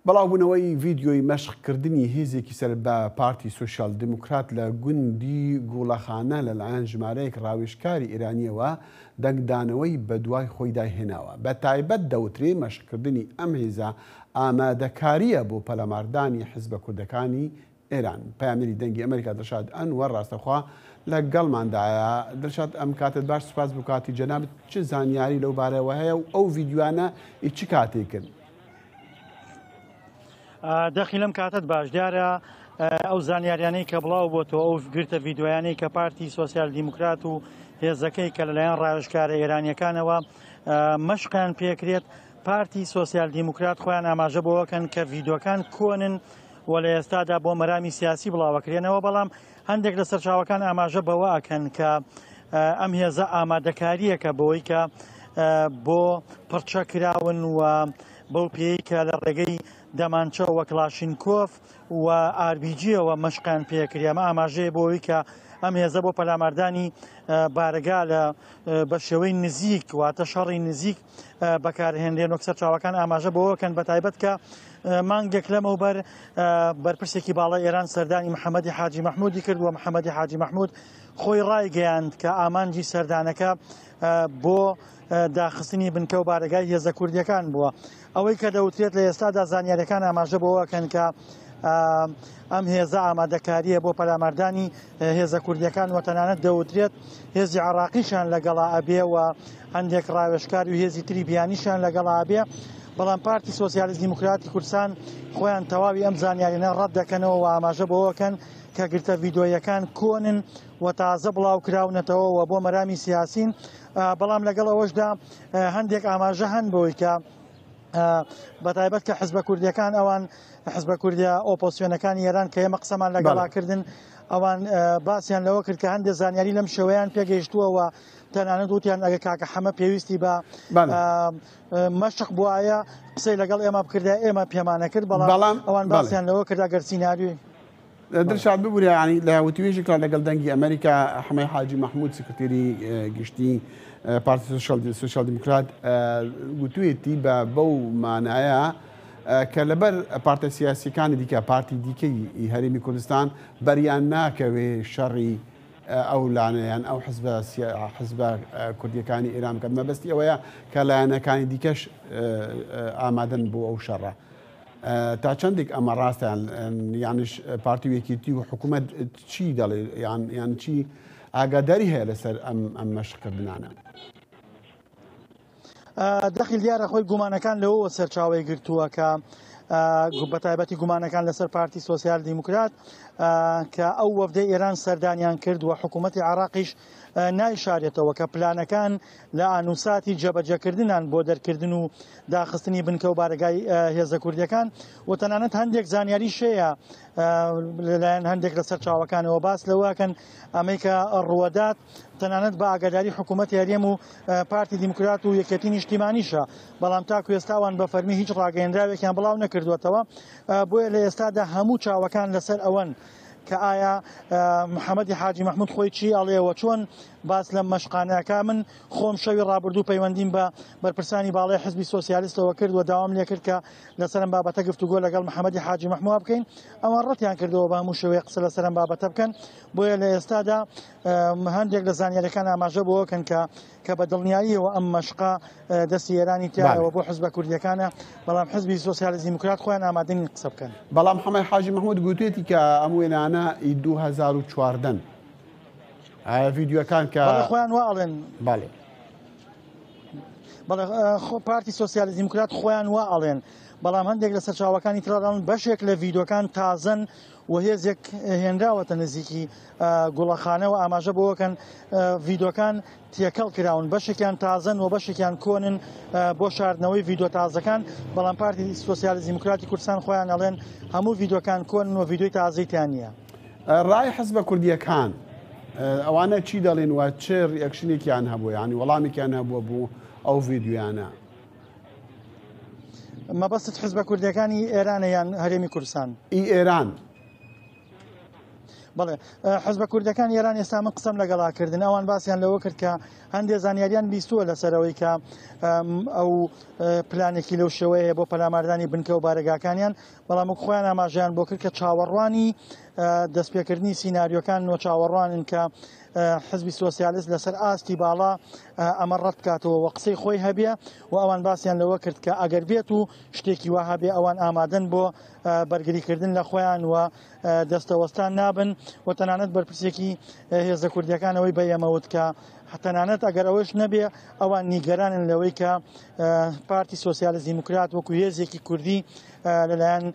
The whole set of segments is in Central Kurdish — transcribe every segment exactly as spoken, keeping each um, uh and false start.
بەڵاوبوونەوەی ڤیدیۆی مەشقکردنی هێزێکی سەر بە پارتی سۆسیال دیموکرات لە گوندی گوڵەخانە لەلایەن ژمارەیەک ڕاوێژکاری ئێرانیەوە دەنگدانەوەی بەدوای خۆیدا هێناوە. بە تایبەت دەوترێ مەشقکردنی ئەم هێزە ئامادەکاریە بۆ پەلاماردانی حزبە کوردەکانی ئێران. پەیامنێری دەنگی ئەمریکا دڵشاد ئەنوەر ڕاستەخوا لەگەڵماندایە. دڵشاد، ئەم کاتت باش، سوپاس بۆ کاتی جەنابت. چ زانیاری لەو بارەوە هەیە و ئەو ڤیدیۆیانە چ کاتێکن؟ دەخی لەم کاتت باش. دیارە ئەو زانیاریانەی کە بڵاو بۆتەوە، ئەو گرتە ڤیدیۆیانەی کە پارتی سۆسیال دیموکرات و هێزەکەی کە لەلایەن ڕاوێژکارە ئێرانیەکانەوە مەشقیان پێکرێت، پارتی سۆسیال دیموکرات خۆیان ئاماژە بۆوەکەن کە ڤیدیۆکان کۆنن و لە ئێستادا بۆ مەرامی سیاسی بڵاوەکرێنەوە. بەڵام هەندێک لە سەرچاوەکان ئاماژە بەوە ئەکەن کە ئەم هێزە ئامادەکاریەکە بۆی کە بۆ پڕچە کراون و بەو پێی کە لە ڕێگەی دەمانچە وە کلاشینکۆف و ئاربیجیەوە مەشقیان پێکرێ. ئەمە ئاماژەیە بۆ ئەوەی کە ئەم هێزە بۆ پەلاماردانی بارەگا لە بە شێوەی نزیک، واتە شەڕی نزیک بەکارهێنرێن. وەک سەرچاوەکان ئاماژە بۆەوەکەن بە تایبەت کە مانگێک لەمەوبەر بەرپرسێکی باڵای ئێران سەردانی محەممەدی حاجی مەحموودی کرد و محەممەدی حاجی مەحموود خۆی ڕایگەیاند کە ئامانجی سەردانەکە بۆ داخستنی بنکە و بارەگای هێزە کوردیەکان بووە. ئەوەی کە دەوترێت لە ئێستادا زانیاریەکان ئاماژە بۆەوەکەن کە ئەم هێزە ئامادەکاریە بۆ پەلاماردانی هێزە کوردیەکان و تەنانەت دەوترێت هێزی عراقیشان لەگەڵا ئەبێ و هەندێک ڕاوێژکار و هێزی تری بیانیشان لەگەڵا ئەبێ. بەڵام پارتی سۆسیالیست دیموکراتی کوردستان خۆیان تەواوی ئەم زانیاریانە ڕەت دەکەنەوە و ئاماژە بۆەوەکەن کە گرتە ڤیدیۆیەکان کۆنن و تازە بڵاو کراونەتەوە و بۆ مەرامی سیاسین. بەڵام لەگەڵ ئەوەشدا هەندێک ئاماژە هەن بۆی کە بەتایبەت کە حزبە کوردیەکان، ئەوان حزبە کوردیە ئۆپۆسیۆنەکانی ئێران کە ئێمە قسەمان لەگەڵا کردن، ئەوان باسییان لەوە کرد کە هەندێک زانیاری لەم شێوەیان پێگەیشتووە و تەنانەت وتیان ئەگە کاکە حەمە پێویستی بە مەشق بوایە قسەی لەگەڵ ئێمە بکردە ئێمە پێمانە کرد. بەڵام ئەوان باسییان لەوە کرد ئەگەر سیناریۆی دڵشاد ببوورە، ینی لە وتوێژێکدا لەگەڵ دەنگی ئەمریکا حەمەی حاجی مەحموود سکرتێری گشتی پارتی سۆسیال دیموکرات گوتوێتی بە بەو مانایە کە لەبەر پارتە سیاسیەکانی دیکە، پارتی دیکەی هەرێمی کوردستان بەریان ناکەوێ شەڕی ئەو لانەیان ئەو حزبە کوردیەکانی ئێران بکات. مەبەستی ئەوەیە کە لایەنەکانی دیکەش ئامادەن بۆ ئەو شەڕە. تا چەندێک ئەمە ڕاستیان، یانش پارتی و یەکێتی و حکوومەت چی دەڵێ یان یان چی ئاگاداری هەیە لەسەر ئەم ئەم مەشقکردنانە؟ دەخیل دیارە خۆی گومانەکان لەوەوە سەرچاوەی گرتووە کە بەتایبەتی گومانەکان لەسەر پارتی سۆسیال دیموکرات کە ئەو وەفدەی ئێران سەردانیان کرد و حکوومەتی عراقیش نایشارێتەوە کە پلانەکان لە ئانوساتی جێبەجێکردنان بۆ دەرکردن و داخستنی بنکە و بارەگای هێزە کوردیەکان و تەنانەت هەندێک زانیاری شەیە لەلایەن هەندێک لە سەرچاوەکانەوە باس لەوەکەن ئەمەی کە ڕوەدات تەنانەت بە ئاگاداری حکوومەتی هەرێم و پارتی دیموکرات و یەکێتی نیشتیمانیشە. بەڵام تاکو ئێستاوان بە فەرمی هیچ ڕاگەیەنراوێکیان بڵاو نەکردووەتەوە. بۆیە لە ئێستادا هەموو چاوەکان لەسەر ئەوەن کە ئایا محەممەدی حاجی مەحموود خۆی چی ئەڵێەوە، چۆن باس لەم مەشقانەکە. من خۆم شەوی ڕابردوو پەیوەندیم بە بەرپرسانی باڵای حزبی سۆسیالیستەوە کرد و داوام لێ کرد کە لەسەر ئەم بابەتە گفتوگۆ لەگەڵ محەممەدی حاجی مەحموود بکەین. ئەوان ڕەتیان کردەوە بە هەموو شێوەیە قسە لەسەر ئەم بابەتە بکەن. بۆیە لە ئێستادا هەندێک لە زانیاریەکان ئاماژە بۆوەکەن کە کە بە دڵنیاییەوە ئەم مەشقە دەستی ئێرانی تایەوە بۆ حزبە کوردیەکانە، بەڵام حزبی سۆسیالیست دیموکرات خۆیان ئامادەنین قسە بکەن. بەڵام حەمەی حاجی مەحموود گوتوێتی کە ئەم وێنانە ئی دوو هەزار و چواردەن ڤیدیۆکان کە خۆیان وا ئەڵێن. بەڵێ بەڵێ پارتی سۆسیالیست دیموکرات خۆیان وا ئەڵێن، بەڵام هەندێک لە سەرچاوەکانی ترادان بەشێک لە ڤیدیۆکان تازەن و هێزێک هێنراوەتە نزیکی گوڵەخانەوە ئاماژە بۆوەکەن ڤیدیۆکان تێکەڵ کراون، بەشێکیان تازەن و بەشێکیان کۆنن بۆ شاردنەوەی ڤیدیۆ تازەکان. بەڵام پارتی سۆسیالیست دیموکراتی کوردستان خۆیان ئەڵێن هەموو ڤیدیۆکان کۆنن و ڤیدیۆی تازەیتیان نییە. ڕای حزبە کوردیەکان ئەوانە چی دەڵێن و چ reaction ێکیان هەبوو، یعنی وەڵامێکیان هەبووە بۆ ئەو ڤیدیۆیانە؟ مەبەستت حزبە کوردیەکانی ئێرانە یان هەرێمی کوردستان؟ ئی ئێران. بەڵێ حزبە کوردەکان ئێران ئێستا من قسەم لەگەڵا کردن، ئەوان باسییان لەوە کرد کە هەندێک زانیاریان بیستووە لەسەرەوەی کە ئەو پلانێکی لەو شێوەیە بۆ پەلاماردانی بنکە و بارەگاکانیان، بەڵام وەک خۆیان ئاماژەیان بۆ کرد کە چاوەڕوانی دەستپێکردنی سیناریۆکان و چاوەڕوانن کە حزبی سۆسیالیست لەسەر ئاستی باڵا ئەمە ڕەت بکاتەوە و قسەی خۆی هەبێ و ئەوان باسییان لەوە کرد کە ئەگەر بێت و شتێکی وا هەبێ ئەوان ئامادەن بۆ بەرگریکردن لە خۆیان و دەستەوەستان نابن و تەنانەت بەرپرسێکی هێزە کوردیەکانەوەی بە ئێمە وت کە تەنانەت ئەگەر ئەوەش نەبێ ئەوان نیگەرانن لەوەی کە پارتی سۆسیالیست دیموکرات وەکو هێزێکی کوردی لەلایەن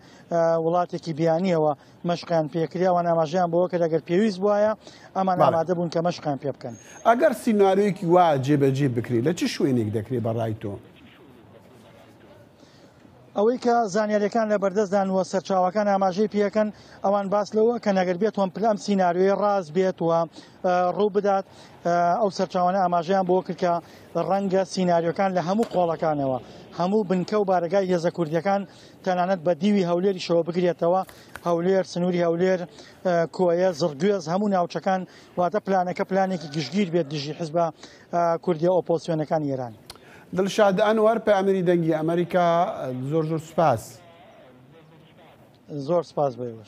وڵاتێکی بیانیەوە مەشقیان پێکرێ. ئەوان ئاماژەیان بەوە کرد ئەگەر پێویست بوایە ئەمان ئامادە بوون کە مەشقیان پێ بکەن. ئەگەر سیناریۆیەکی وا جێبەجێ بکرێت لە چ شوێنێک دەکرێت بە ڕای تۆ؟ ئەوەی کە زانیاریەکان لە بەردەستدان و سەرچاوەکان ئاماژەی پێەکەن ئەوان باس لەوە کە نەگەر بێت وەم پلام سیناریۆی ڕاست بێت و ڕوو بدات، ئەو سەرچاوانە ئاماژەیان بۆ کرد کە ڕەنگە سیناریۆکان لە هەموو قۆڵەکانەوە هەموو بنکە و بارەگای هێزە کوردیەکان تەنانەت بە دیوی هەولێریشەوە بگرێتەوە، هەولێر، سنووری هەولێر، کۆیە، زڕگوێز، هەموو ناوچەکان، واتە پلانەکە پلانێکی گشتگیر بێت دژی حزبە کوردیە ئۆپۆزیسیۆنەکانی ئێران. دڵشاد ئەنوەر، پەیامنێری دەنگی ئەمریکا، زۆر زۆر سوپاس. زۆر سوپاس بۆ ئێوەش.